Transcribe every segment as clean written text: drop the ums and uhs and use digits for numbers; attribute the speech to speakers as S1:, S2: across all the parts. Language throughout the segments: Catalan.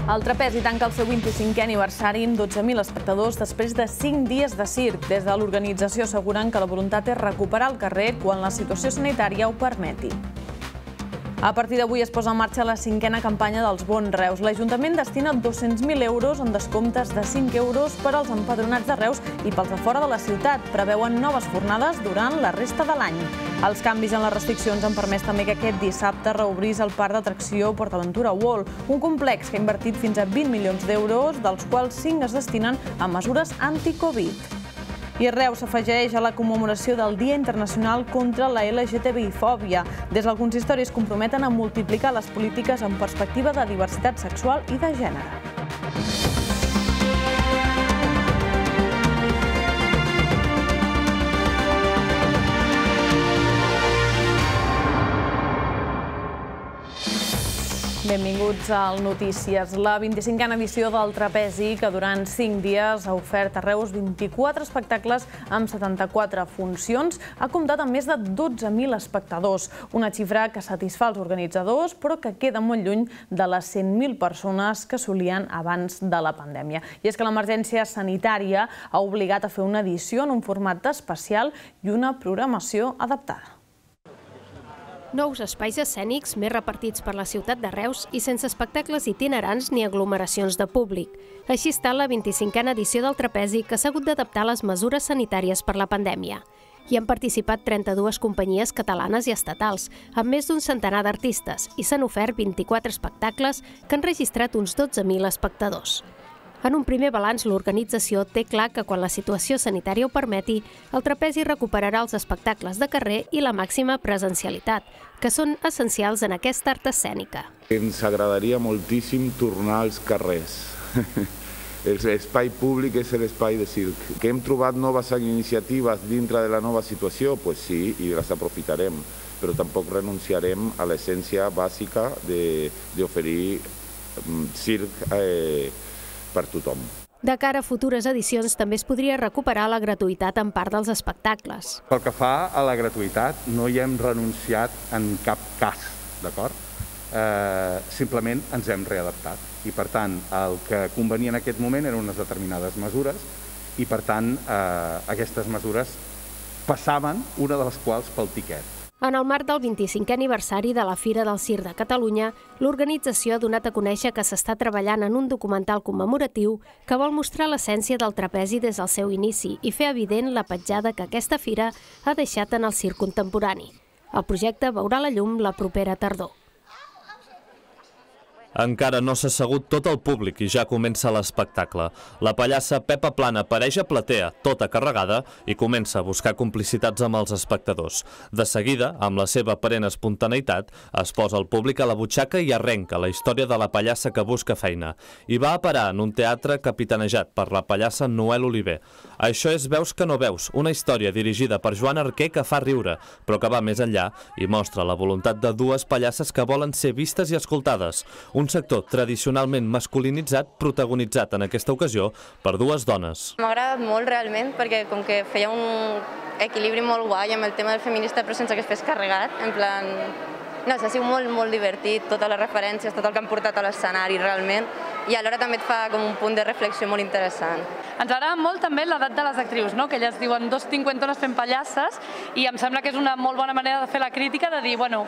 S1: El trapezi tanca el seu 25è aniversari amb 12.000 espectadors després de 5 dies de circ. Des de l'organització asseguren que la voluntat és recuperar el carrer quan la situació sanitària ho permeti. A partir d'avui es posa en marxa la 5a campanya dels Bons Reus. L'Ajuntament destina 200.000 euros en descomptes de 5 euros per als empadronats de Reus i pels de fora de la ciutat. Preveuen noves fornades durant la resta de l'any. Els canvis en les restriccions han permès també que aquest dissabte reobrís el parc d'atracció PortAventura World, un complex que ha invertit fins a 20 milions d'euros, dels quals 5 es destinen a mesures anti-Covid. I Reus s'afegeix a la commemoració del Dia Internacional contra la LGTBI-fòbia. Des del consistori es comprometen a multiplicar les polítiques en perspectiva de diversitat sexual i de gènere. Benvinguts al Notícies. La 25a edició del Trapezi, que durant 5 dies ha ofert a Reus 24 espectacles amb 74 funcions, ha comptat amb més de 12.000 espectadors, una xifra que satisfà els organitzadors, però que queda molt lluny de les 100.000 persones que solien abans de la pandèmia. I és que l'emergència sanitària ha obligat a fer una edició en un format especial i una programació adaptada.
S2: Nous espais escènics més repartits per la ciutat de Reus i sense espectacles itinerants ni aglomeracions de públic. Així està la 25a edició del Trapezi, que s'ha hagut d'adaptar a les mesures sanitàries per la pandèmia. Hi han participat 32 companyies catalanes i estatals, amb més d'un centenar d'artistes, i s'han ofert 24 espectacles que han registrat uns 12.000 espectadors. En un primer balanç, l'organització té clar que quan la situació sanitària ho permeti, el Trapezi recuperarà els espectacles de carrer i la màxima presencialitat, que són essencials en aquesta art escènica.
S3: Ens agradaria moltíssim tornar als carrers. L'espai públic és l'espai de circ. Que hem trobat noves iniciatives dintre de la nova situació? Doncs sí, i les aprofitarem, però tampoc renunciarem a l'essència bàsica d'oferir circ per tothom.
S2: De cara a futures edicions, també es podria recuperar la gratuïtat en part dels espectacles.
S4: Pel que fa a la gratuïtat, no hi hem renunciat en cap cas, d'acord? Simplement ens hem readaptat. I, per tant, el que convenia en aquest moment eren unes determinades mesures i, per tant, aquestes mesures passaven, una de les quals pel tiquet.
S2: En el marc del 25è aniversari de la Fira del Circ de Catalunya, l'organització ha donat a conèixer que s'està treballant en un documental commemoratiu que vol mostrar l'essència del trapezi des del seu inici i fer evident la petjada que aquesta fira ha deixat en el circ contemporani. El projecte veurà la llum la propera tardor.
S5: Encara no s'ha assegut tot el públic i ja comença l'espectacle. La pallassa Pepa Plana apareix a platea, tota carregada, i comença a buscar complicitats amb els espectadors. De seguida, amb la seva aparent espontaneïtat, es posa el públic a la butxaca i arrenca la història de la pallassa que busca feina. I va a parar en un teatre capitanejat per la pallassa Noel Oliver. Això és Veus que no veus, una història dirigida per Joan Arquer que fa riure, però que va més enllà i mostra la voluntat de dues pallasses que volen ser vistes i escoltades. Un sector tradicionalment masculinitzat, protagonitzat en aquesta ocasió per dues dones.
S6: M'ha agradat molt realment perquè com que feia un equilibri molt guai amb el tema del feminista però sense que es fes carregat, en plan... No, ha sigut molt divertit, totes les referències, tot el que han portat a l'escenari realment, i alhora també et fa com un punt de reflexió molt interessant.
S7: Ens agrada molt també l'edat de les actrius, que elles diuen 2 cinquantones fent pallasses, i em sembla que és una molt bona manera de fer la crítica, de dir, bueno,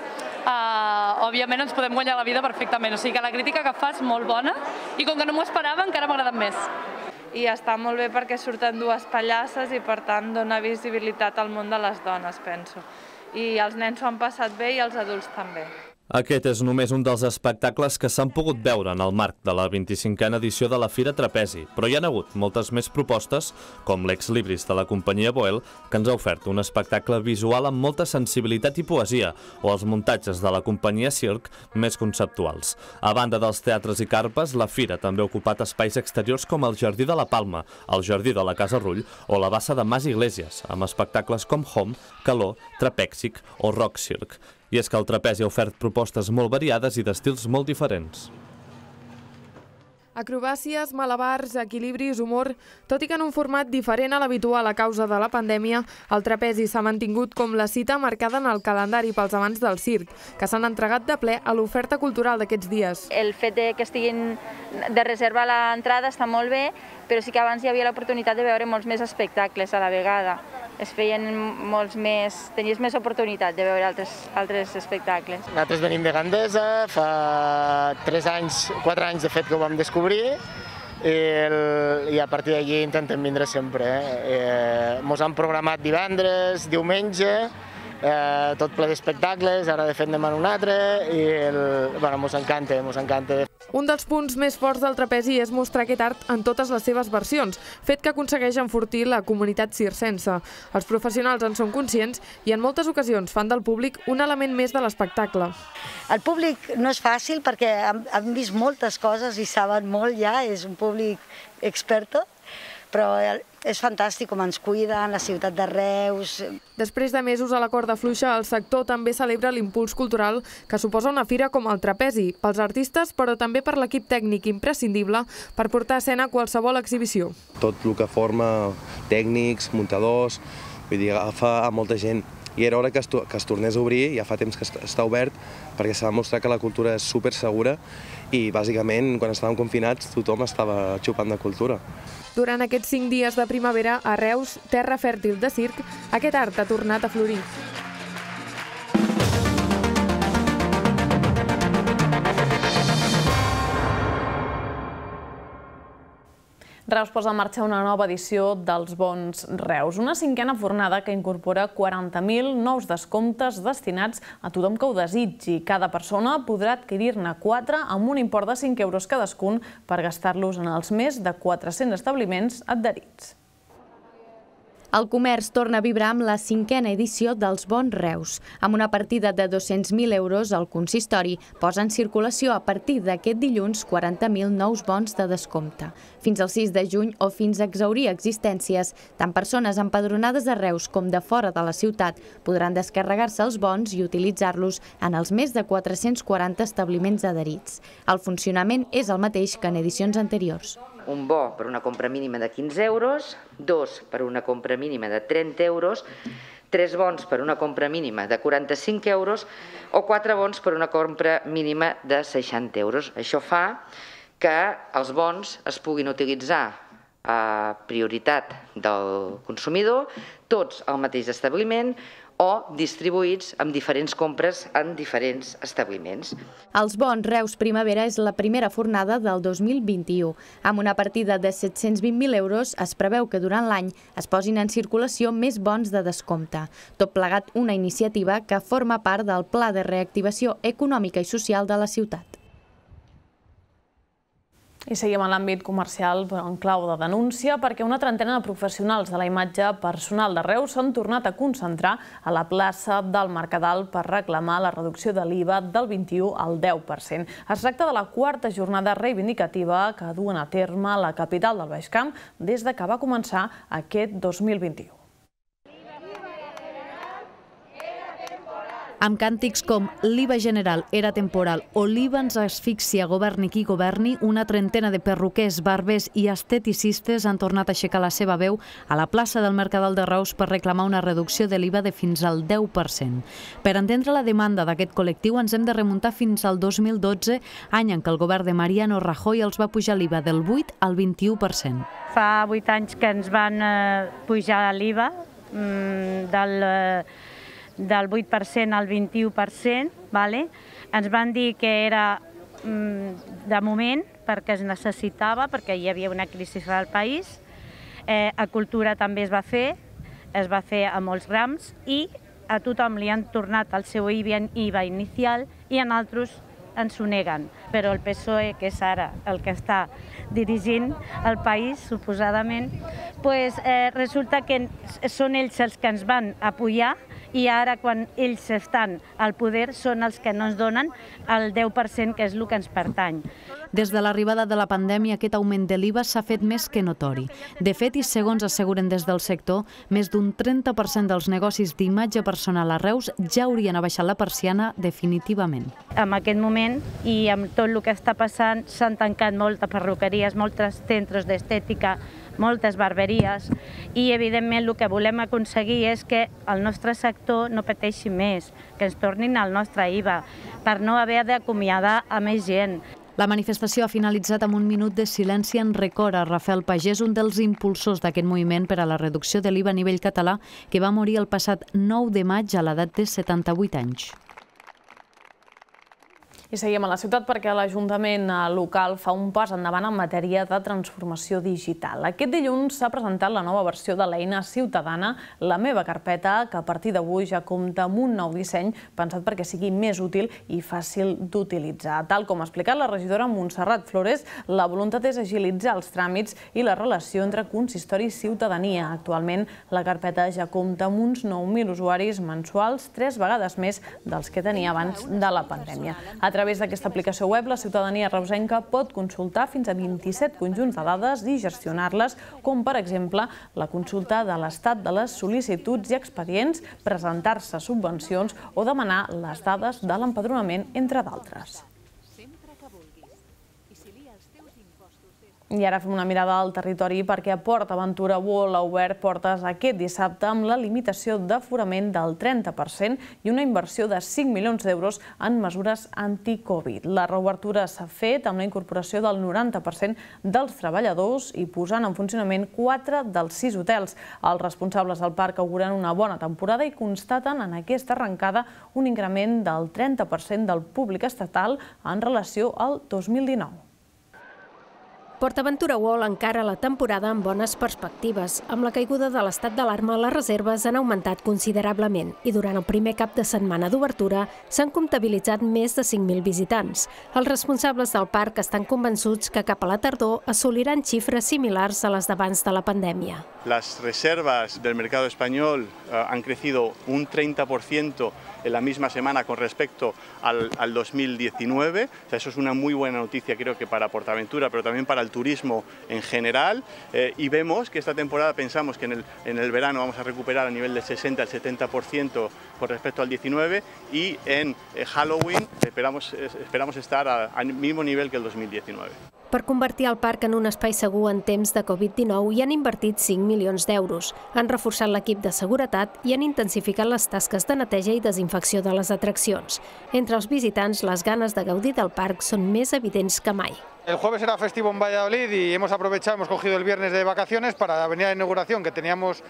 S7: òbviament ens podem guanyar la vida perfectament, o sigui que la crítica que fa és molt bona, i com que no m'ho esperava encara m'ha agradat més.
S8: I està molt bé perquè surten dues pallasses i per tant dona visibilitat al món de les dones, penso. I els nens s'ho han passat bé i els adults també.
S5: Aquest és només un dels espectacles que s'han pogut veure en el marc de la 25a edició de la Fira Trapezi, però hi ha hagut moltes més propostes, com l'Ex Libris de la companyia Boel, que ens ha ofert un espectacle visual amb molta sensibilitat i poesia, o els muntatges de la companyia Circ més conceptuals. A banda dels teatres i carpes, la Fira també ha ocupat espais exteriors com el Jardí de la Palma, el Jardí de la Casa Rull o la Bassa de Mas Iglesias, amb espectacles com Home, Calor, Trapèxic o Rock Circ. I és que el trapezi ha ofert propostes molt variades i d'estils molt diferents.
S9: Acrobàcies, malabars, equilibris, humor... Tot i que en un format diferent a l'habitual a causa de la pandèmia, el trapezi s'ha mantingut com la cita marcada en el calendari pels amants del circ, que s'han entregat de ple a l'oferta cultural d'aquests dies.
S10: El fet que estiguin de reserva a l'entrada està molt bé, però sí que abans hi havia l'oportunitat de veure molts més espectacles a la vegada. Es feien molts més... Tenies més oportunitat de veure altres espectacles.
S11: Nosaltres venim de Gandesa, fa 4 anys de fet que ho vam descobrir, i a partir d'allí intentem vindre sempre. Ens han programat divendres, diumenge, tot ple d'espectacles, ara de fet anem a un altre, i ens encanta.
S9: Un dels punts més forts del trapezi és mostrar aquest art en totes les seves versions, fet que aconsegueix enfortir la comunitat circense. Els professionals en són conscients i en moltes ocasions fan del públic un element més de l'espectacle.
S12: El públic no és fàcil perquè han vist moltes coses i saben molt ja, és un públic experto, però és fantàstic com ens cuiden, la ciutat de Reus.
S9: Després de mesos a la corda fluixa, el sector també celebra l'impuls cultural que suposa una fira com el trapezi, pels artistes però també per l'equip tècnic imprescindible per portar a escena qualsevol exhibició.
S13: Tot el que forma tècnics, muntadors, vull dir, agafa a molta gent. I era hora que es tornés a obrir, ja fa temps que està obert, perquè s'ha demostrat que la cultura és supersegura i bàsicament quan estàvem confinats tothom estava xupant de cultura.
S9: Durant aquests 5 dies de primavera, a Reus, terra fèrtil de circ, aquest art ha tornat a florir.
S1: Reus posa en marxa una nova edició dels Bons Reus, una 5a fornada que incorpora 40.000 nous descomptes destinats a tothom que ho desitgi. Cada persona podrà adquirir-ne 4 amb un import de 5 euros cadascun per gastar-los en els més de 400 establiments adherits.
S14: El comerç torna a vibrar amb la 5a edició dels Bons Reus. Amb una partida de 200.000 euros, el consistori posa en circulació a partir d'aquest dilluns 40.000 nous bons de descompte. Fins al 6 de juny o fins a exhaurir existències, tant persones empadronades a Reus com de fora de la ciutat podran descarregar-se els bons i utilitzar-los en els més de 440 establiments adherits. El funcionament és el mateix que en edicions anteriors.
S15: Un bo per una compra mínima de 15 euros, 2 per una compra mínima de 30 euros, 3 bons per una compra mínima de 45 euros o 4 bons per una compra mínima de 60 euros. Això fa que els bons es puguin utilitzar a prioritat del consumidor, tots al mateix establiment, o distribuïts amb diferents compres en diferents establiments.
S14: Els Bons Reus Primavera és la primera fornada del 2021. Amb una partida de 720.000 euros es preveu que durant l'any es posin en circulació més bons de descompte. Tot plegat una iniciativa que forma part del Pla de Reactivació Econòmica i Social de la ciutat.
S1: I seguim en l'àmbit comercial en clau de denúncia perquè una trentena de professionals de la imatge personal de Reus s'han tornat a concentrar a la plaça del Mercadal per reclamar la reducció de l'IVA del 21 al 10%. Es tracta de la 4a jornada reivindicativa que duen a terme la capital del Baix Camp des que va començar aquest 2021.
S16: Amb càntics com l'IVA general era temporal o l'IVA ens asfixia, governi qui governi, una trentena de perruquers, barbers i esteticistes han tornat a aixecar la seva veu a la plaça del Mercadal de Reus per reclamar una reducció de l'IVA de fins al 10%. Per entendre la demanda d'aquest col·lectiu ens hem de remuntar fins al 2012, any en què el govern de Mariano Rajoy els va pujar l'IVA del 8 al 21%.
S17: Fa 8 anys que ens van pujar l'IVA del 8% al 21%, ens van dir que era de moment perquè es necessitava, perquè hi havia una crisi al país. A cultura també es va fer a molts grams i a tothom li han tornat el seu IVA inicial i en altres ens ho neguen. Però el PSOE, que és ara el que està dirigint el país, suposadament, resulta que són ells els que ens van apoyar i ara quan ells estan al poder són els que no ens donen el 10% que és el que ens pertany.
S16: Des de l'arribada de la pandèmia, aquest augment de l'IVA s'ha fet més que notori. De fet, i segons asseguren des del sector, més d'un 30% dels negocis d'imatge personal a Reus ja haurien abaixat la persiana definitivament.
S17: En aquest moment, i amb tot el que està passant, s'han tancat moltes perruqueries, molts centres d'estètica, moltes barberies, i evidentment el que volem aconseguir és que el nostre sector no pateixi més, que ens tornin al nostre IVA, per no haver d'acomiadar a més gent.
S16: La manifestació ha finalitzat amb un minut de silenci en record a Rafael Pagès, un dels impulsors d'aquest moviment per a la reducció de l'IVA a nivell català, que va morir el passat 9 de maig a l'edat de 78 anys.
S1: I seguim a la ciutat perquè l'Ajuntament local fa un pas endavant en matèria de transformació digital. Aquest dilluns s'ha presentat la nova versió de l'eina ciutadana La meva carpeta, que a partir d'avui ja compta amb un nou disseny pensat perquè sigui més útil i fàcil d'utilitzar. Tal com ha explicat la regidora Montserrat Flores, la voluntat és agilitzar els tràmits i la relació entre consistori i ciutadania. Actualment, la carpeta ja compta amb uns 9.000 usuaris mensuals, 3 vegades més dels que tenia abans de la pandèmia. A través d'aquesta aplicació web, la ciutadania reusenca pot consultar fins a 27 conjunts de dades i gestionar-les, com per exemple la consulta de l'estat de les sol·licituds i expedients, presentar-se subvencions o demanar les dades de l'empadronament, entre d'altres. I ara fem una mirada al territori perquè Port Aventura World ha obert portes aquest dissabte amb la limitació d'aforament del 30% i una inversió de 5 milions d'euros en mesures anti-Covid. La reobertura s'ha fet amb la incorporació del 90% dels treballadors i posant en funcionament 4 dels 6 hotels. Els responsables del parc auguren una bona temporada i constaten en aquesta arrencada un increment del 30% del públic estatal en relació al 2019.
S2: Port Aventura World encara la temporada amb bones perspectives. Amb la caiguda de l'estat d'alarma, les reserves han augmentat considerablement i durant el primer cap de setmana d'obertura s'han comptabilitzat més de 5.000 visitants. Els responsables del parc estan convençuts que cap a la tardor assoliran xifres similars a les d'abans de la pandèmia.
S18: Las reservas del mercado español han crecido un 30% en la misma semana con respecto al 2019. O sea, eso es una muy buena noticia, creo que para PortAventura, pero también para el turismo en general. Y vemos que esta temporada pensamos que en el verano vamos a recuperar a nivel del 60 al 70% con respecto al 19 y en Halloween esperamos estar al mismo nivel que el 2019.
S2: Per convertir el parc en un espai segur en temps de Covid-19 hi han invertit 5 milions d'euros. Han reforçat l'equip de seguretat i han intensificat les tasques de neteja i desinfecció de les atraccions. Entre els visitants, les ganes de gaudir del parc són més evidents que mai.
S19: El jueves era festivo en Valladolid y hemos cogido el viernes de vacaciones para venir a la inauguración, que teníamos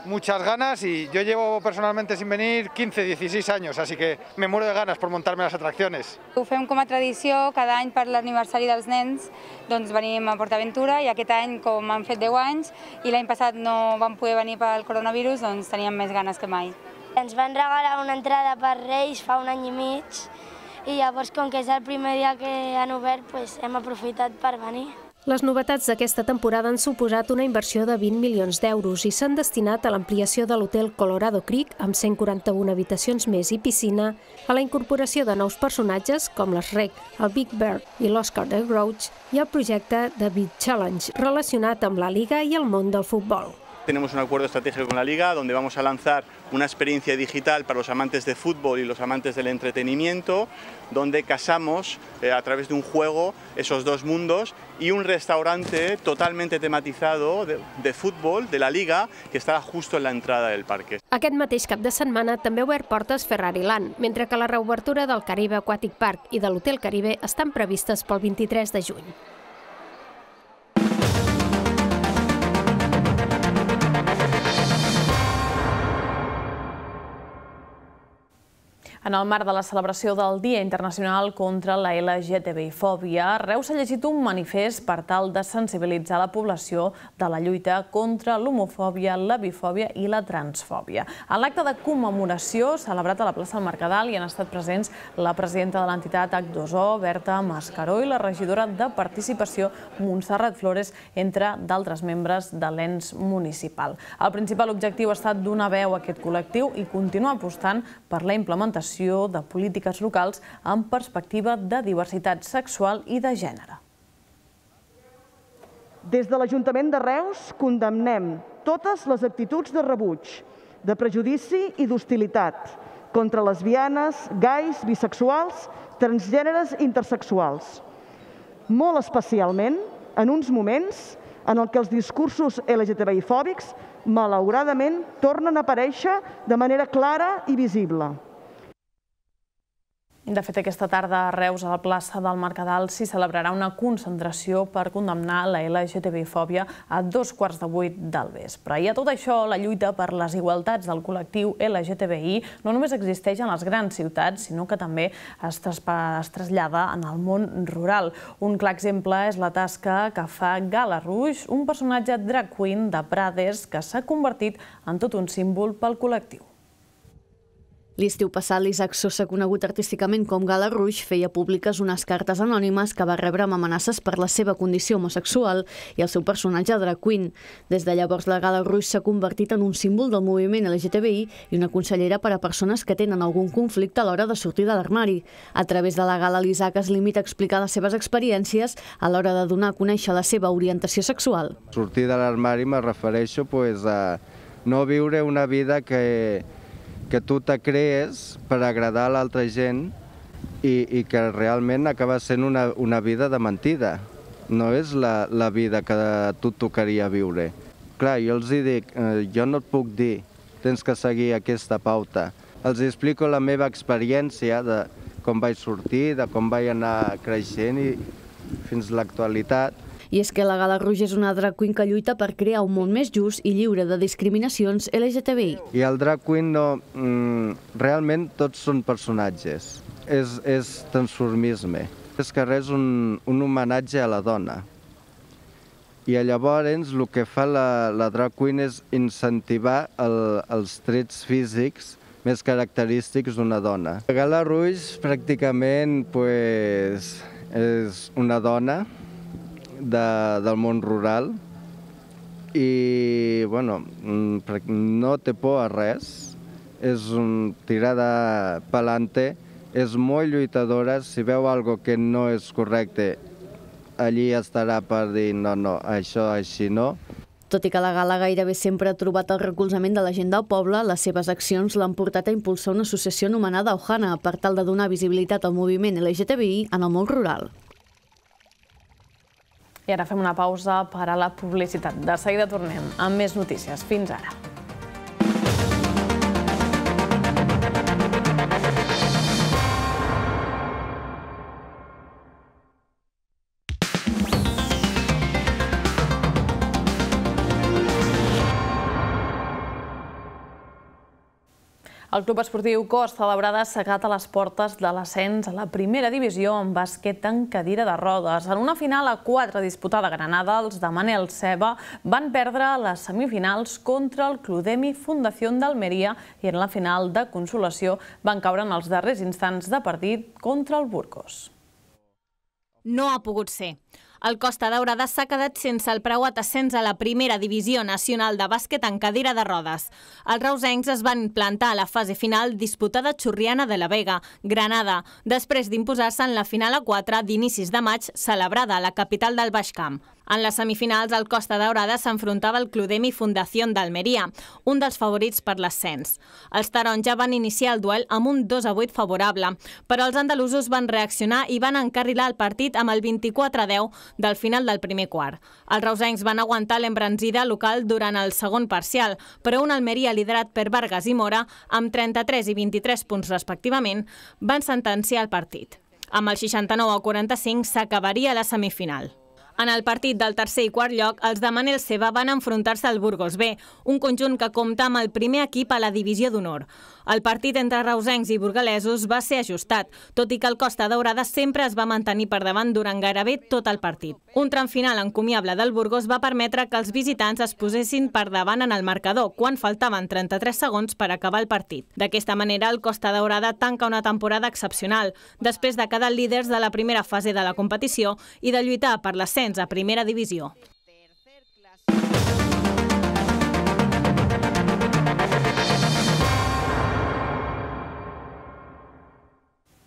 S19: muchas ganas, y yo llevo personalmente sin venir 15-16 años, así que me muero de ganas por montarme las atracciones.
S20: Ho fem com a tradició, cada any per l'aniversari dels nens doncs venim a PortAventura, i aquest any, com han fet 10 anys i l'any passat no vam poder venir pel coronavirus, doncs teníem més ganes que mai.
S21: Ens van regalar una entrada per Reis fa un any i mig, i llavors, com que és el primer dia que han obert, hem aprofitat per venir.
S2: Les novetats d'aquesta temporada han suposat una inversió de 20 milions d'euros i s'han destinat a l'ampliació de l'hotel Colorado Creek, amb 141 habitacions més i piscina, a la incorporació de nous personatges com l'Shrek, el Big Bird i l'Oscar the Grouch, i el projecte The Big Challenge, relacionat amb la Liga i el món del futbol.
S18: Tenemos un acuerdo estratégico con la Liga, donde vamos a lanzar una experiencia digital para los amantes de fútbol y los amantes del entretenimiento, donde casamos a través de un juego esos dos mundos, y un restaurante totalmente tematizado de fútbol de la Liga que estarà justo en la entrada del parque.
S2: Aquest mateix cap de setmana també ha obert portes Ferrari Land, mentre que la reobertura del Caribe Aquatic Park i de l'Hotel Caribe estan previstes pel 23 de juny.
S1: En el marc de la celebració del Dia Internacional contra la LGTBI-fòbia, Reus ha llegit un manifest per tal de sensibilitzar la població de la lluita contra l'homofòbia, la bifòbia i la transfòbia. En l'acte de commemoració celebrat a la plaça del Mercadal hi han estat presents la presidenta de l'entitat H2O, Berta Mascaró, i la regidora de Participació, Montserrat Flores, entre d'altres membres de l'ens municipal. El principal objectiu ha estat donar veu a aquest col·lectiu i continuar apostant per la implementació de polítiques locals amb perspectiva de diversitat sexual i de gènere.
S3: Des de l'Ajuntament de Reus condemnem totes les actituds de rebuig, de prejudici i d'hostilitat contra lesbianes, gais, bisexuals, transgèneres i intersexuals. Molt especialment en uns moments en què els discursos LGTBI-fòbics malauradament tornen a aparèixer de manera clara i visible.
S1: De fet, aquesta tarda a Reus, a la plaça del Mercadal, s'hi celebrarà una concentració per condemnar la LGTBI-fòbia a 7:15 del vespre. I a tot això, la lluita per les igualtats del col·lectiu LGTBI no només existeix en les grans ciutats, sinó que també es trasllada en el món rural. Un clar exemple és la tasca que fa Gala Rouge, un personatge drag queen de Prades que s'ha convertit en tot un símbol pel col·lectiu.
S16: L'estiu passat, l'Isaac Sosa, conegut artísticament com Gala Rouge, feia públiques unes cartes anònimes que va rebre amb amenaces per la seva condició homosexual i el seu personatge drag queen. Des de llavors, la Gala Rouge s'ha convertit en un símbol del moviment LGTBI i una consellera per a persones que tenen algun conflicte a l'hora de sortir de l'armari. A través de la gala, l'Isaac es limita a explicar les seves experiències a l'hora de donar a conèixer la seva orientació sexual.
S22: Sortir de l'armari me refereixo a no viure una vida que tu te crees per agradar a l'altra gent i que realment acaba sent una vida de mentida. No és la vida que a tu tocaria viure. Clar, jo els dic, jo no et puc dir, tens que seguir aquesta pauta. Els explico la meva experiència de com vaig sortir, de com vaig anar creixent i fins a l'actualitat.
S16: I és que la Gala Rouge és una drag queen que lluita per crear un món més just i lliure de discriminacions LGTBI.
S22: I el drag queen realment tots són personatges, és transformisme. És que és un homenatge a la dona. I llavors el que fa la drag queen és incentivar els trets físics més característics d'una dona. La Gala Rouge pràcticament és una dona del món rural i no té por a res, és tirada pa'lante, és molt lluitadora, si veu alguna cosa que no és correcte, allí estarà per dir no, això així no.
S16: Tot i que la gala gairebé sempre ha trobat el recolzament de la gent del poble, les seves accions l'han portat a impulsar una associació anomenada Ohana per tal de donar visibilitat al moviment LGTBI en el món rural.
S1: I ara fem una pausa per a la publicitat. De seguida tornem amb més notícies. Fins ara. El Club Esportiu Costa Daurada s'ha quedat a les portes de l'ascens a la primera divisió en bàsquet en cadira de rodes. En una final a 4 disputada a Granada, els de Manel Ceba van perdre les semifinals contra el Clodemi Fundació d'Almeria i en la final de consolació van caure en els darrers instants de partit contra el Burgos.
S23: No ha pogut ser. El Costa Daurada s'ha quedat sense el preuat ascens a la primera divisió nacional de bàsquet en cadira de rodes. Els reusencs es van plantar a la fase final disputada a Churriana de la Vega, Granada, després d'imposar-se en la final a 4 d'inicis de maig celebrada a la capital del Baix Camp. En les semifinals, el Costa Daurada s'enfrontava al Clodemi Fundació d'Almeria, un dels favorits per l'ascens. Els taronja van iniciar el duel amb un 2-8 favorable, però els andalusos van reaccionar i van encarrilar el partit amb el 24-10 del final del primer quart. Els reusencs van aguantar l'embranzida local durant el segon parcial, però un Almeria liderat per Vargas i Mora, amb 33 i 23 punts respectivament, van sentenciar el partit. Amb el 69-45 s'acabaria la semifinal. En el partit del tercer i quart lloc, els de Manel Ceba van enfrontar-se al Burgos B, un conjunt que compta amb el primer equip a la divisió d'honor. El partit entre reusencs i burgalesos va ser ajustat, tot i que el Costa Daurada sempre es va mantenir per davant durant gairebé tot el partit. Un tram final encomiable del Burgos va permetre que els visitants es posessin per davant en el marcador, quan faltaven 33 segons per acabar el partit. D'aquesta manera, el Costa Daurada tanca una temporada excepcional, després de quedar líders de la primera fase de la competició i de lluitar per l'ascens a primera divisió.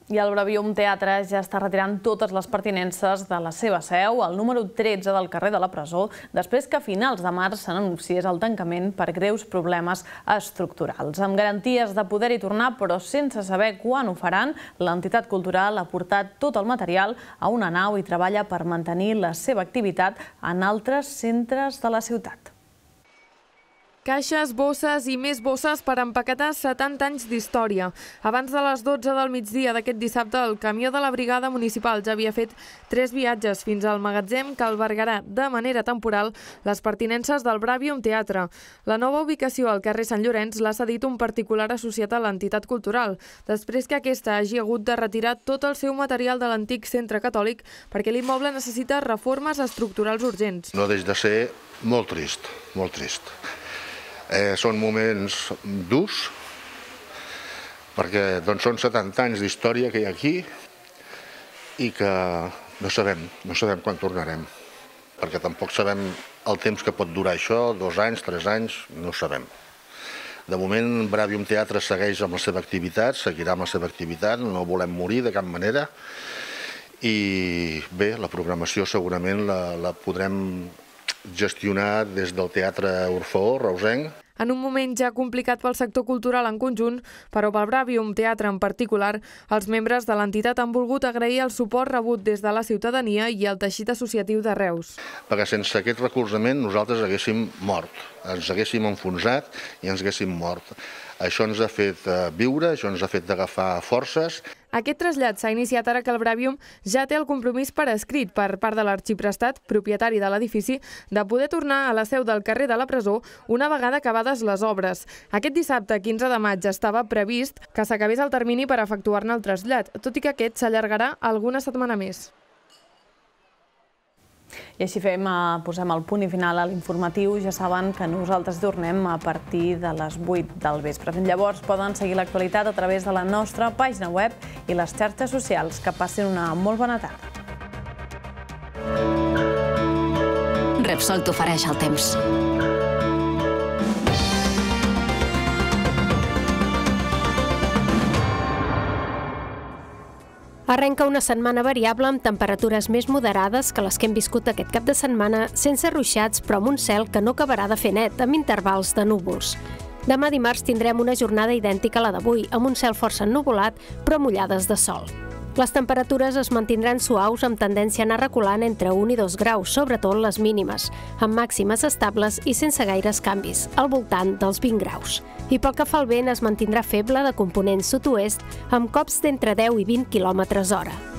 S1: I el Bravium Teatre ja està retirant totes les pertinences de la seva seu, al número 13 del carrer de la Presó, després que a finals de març s'anunciés el tancament per greus problemes estructurals. Amb garanties de poder-hi tornar, però sense saber quan ho faran, l'entitat cultural ha portat tot el material a una nau i treballa per mantenir la seva activitat en altres centres de la ciutat.
S9: Caixes, bosses i més bosses per empaquetar 70 anys d'història. Abans de les 12 del migdia d'aquest dissabte, el camió de la brigada municipal ja havia fet 3 viatges fins al magatzem que albergarà de manera temporal les pertinences del Bravium Teatre. La nova ubicació al carrer Sant Llorenç l'ha cedit un particular associat a l'entitat cultural, després que aquesta hagi hagut de retirar tot el seu material de l'antic centre catòlic perquè l'immoble necessita reformes estructurals urgents.
S4: No deixa de ser molt trist, molt trist. Són moments durs, perquè són 70 anys d'història que hi ha aquí i que no sabem quan tornarem, perquè tampoc sabem el temps que pot durar això, 2 anys, 3 anys, no ho sabem. De moment, Bravium Teatre segueix amb la seva activitat, seguirà amb la seva activitat, no volem morir de cap manera i bé, la programació segurament la podrem gestionar des del Teatre Orfeó, reusenc.
S9: En un moment ja complicat pel sector cultural en conjunt, però pel Bravium Teatre en particular, els membres de l'entitat han volgut agrair el suport rebut des de la ciutadania i el teixit associatiu de Reus.
S4: Perquè sense aquest recolzament nosaltres haguéssim mort, ens haguéssim enfonsat i ens haguéssim mort. Això ens ha fet viure, això ens ha fet agafar forces.
S9: Aquest trasllat s'ha iniciat ara que el Bravium ja té el compromís per escrit per part de l'arxiprestat, propietari de l'edifici, de poder tornar a la seu del carrer de la Presó una vegada acabades les obres. Aquest dissabte, 15 de maig, estava previst que s'acabés el termini per efectuar-ne el trasllat, tot i que aquest s'allargarà alguna setmana més.
S1: I així posem el punt i final a l'informatiu. Ja saben que nosaltres tornem a partir de les 8 del vespre. Fins llavors poden seguir l'actualitat a través de la nostra pàgina web i les xarxes socials. Que passin una molt bona tarda.
S6: Repsol t'ofereix el temps.
S2: Arrenca una setmana variable amb temperatures més moderades que les que hem viscut aquest cap de setmana, sense ruixats, però amb un cel que no acabarà de fer net, amb intervals de núvols. Demà dimarts tindrem una jornada idèntica a la d'avui, amb un cel força ennuvolat, però mullades de sol. Les temperatures es mantindran suaus amb tendència a anar reculant entre 1 i 2 graus, sobretot les mínimes, amb màximes estables i sense gaires canvis, al voltant dels 20 graus. I pel que fa al vent es mantindrà feble de component sud-oest, amb cops d'entre 10 i 20 km/h.